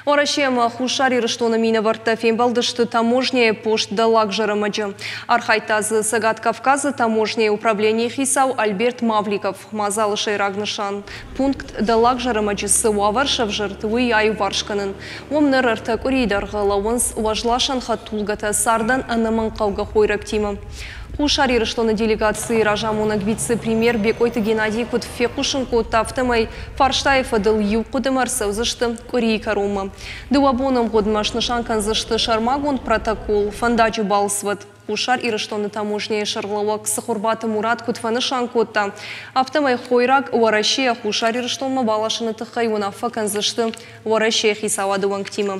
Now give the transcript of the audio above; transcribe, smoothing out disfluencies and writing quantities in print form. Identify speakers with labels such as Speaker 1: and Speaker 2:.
Speaker 1: Уӕрӕсе ӕмӕ Хуссар Ирыстоны минӕвӕрттӕ фембӕлдысты таможняйы пост Дӕллаг Зӕрӕмӕджы. Архайдта дзы Цӕгат Кавказы таможняйы управленийы хицау Альберт Мавликов. Мадзалы сӕйраг нысан – пункт Дӕллаг Зӕрӕмӕджы цы уавӕр сӕвзӕрд, уый аиуварс кӕнын. Уым ныр ӕртӕ къуырийы дӕргъы лӕууынц уӕзласӕн хӕдтулгӕтӕ цардӕн ӕнӕмӕнгхъӕугӕ хойрӕгтимӕ. Хуссар Ирыстоны делегацийы разамонӕг вице-премьер Бекъойты Геннадий куыд фехъусын кодта, афтӕмӕй фарстайы фӕдыл иу хъуыдымӕ ӕрцӕудзысты къуырийы кӕронмӕ. Дыууӕ боны ӕмгъуыдмӕ снысан кӕндзысты сӕрмагонд протокол фӕндаджы балцвӕд. Хуссар Ирыстоны таможняйы сӕргълӕууӕг Цыхуырбаты Мурат куыд фӕнысан кодта, афтӕмӕй хойраг Уӕрӕсейӕ Хуссар Ирыстонмӕ баласыны тыххӕй уынаффӕ кӕндзысты Уӕрӕсейы хицауады уӕнгтимӕ.